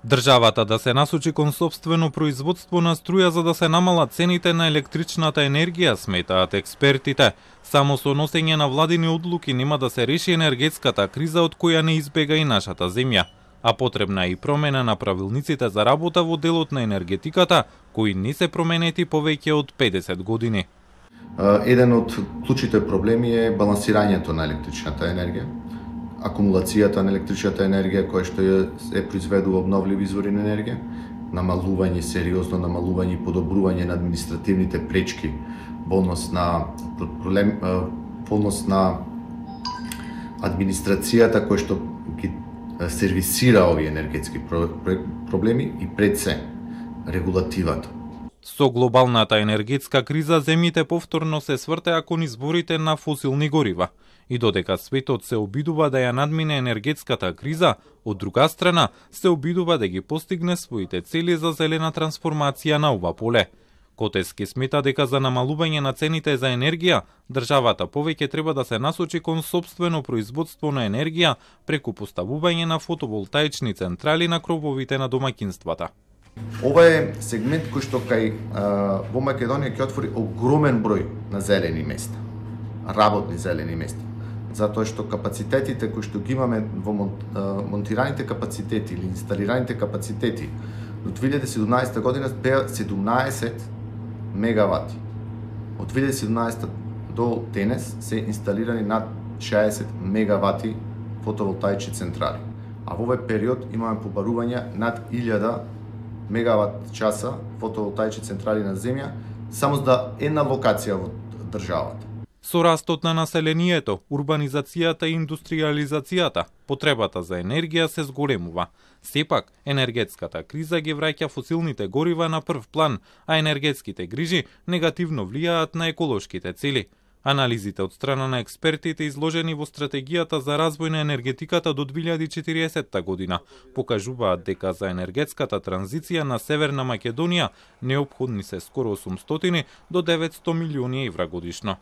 Државата да се насочи кон сопствено производство на струја за да се намалат цените на електричната енергија, сметаат експертите. Само со носење на владини одлуки нема да се реши енергетската криза од која не избега и нашата земја. А потребна е и промена на правилниците за работа во делот на енергетиката, кои не се променети повеќе од 50 години. Еден од клучните проблеми е балансирањето на електричната енергија, акумулацијата на електричната енергија која што е произведува обновливи извори на енергија, сериозно намалување и подобрување на административните пречки во однос на администрацијата која што ги сервисира овие енергетски проблеми и пред се регулативата. Со глобалната енергетска криза земјите повторно се свртеа кон изборите на фосилни горива. И додека светот се обидува да ја надмине енергетската криза, од друга страна се обидува да ги постигне своите цели за зелена трансформација на ова поле. Котески смета дека за намалување на цените за енергија, државата повеќе треба да се насочи кон сопствено производство на енергија преку поставување на фотоволтаични централи на крововите на домаќинствата. Ова е сегмент кој што во Македонија ќе отвори огромен број на зелени места, работни зелени места, затоа што капацитетите кои што ги имаме во монтираните капацитети или инсталираните капацитети до 2017 година беа 17 мегавати. Од 2017 до денес се инсталирани над 60 мегавати фотоволтаични централи. А во овој период имаме побарување над 1000 мегават часа фотоволтаични централи на земја само за една локација во државата. Со растот на населението, урбанизацијата и индустриализацијата, потребата за енергија се зголемува. Сепак, енергетската криза ги враќа фосилните горива на прв план, а енергетските грижи негативно влијаат на еколошките цели. Анализите од страна на експертите изложени во стратегијата за развој на енергетиката до 2040 година покажуваат дека за енергетската транзиција на Северна Македонија неопходни се скоро 800 до 900 милиони евра годишно.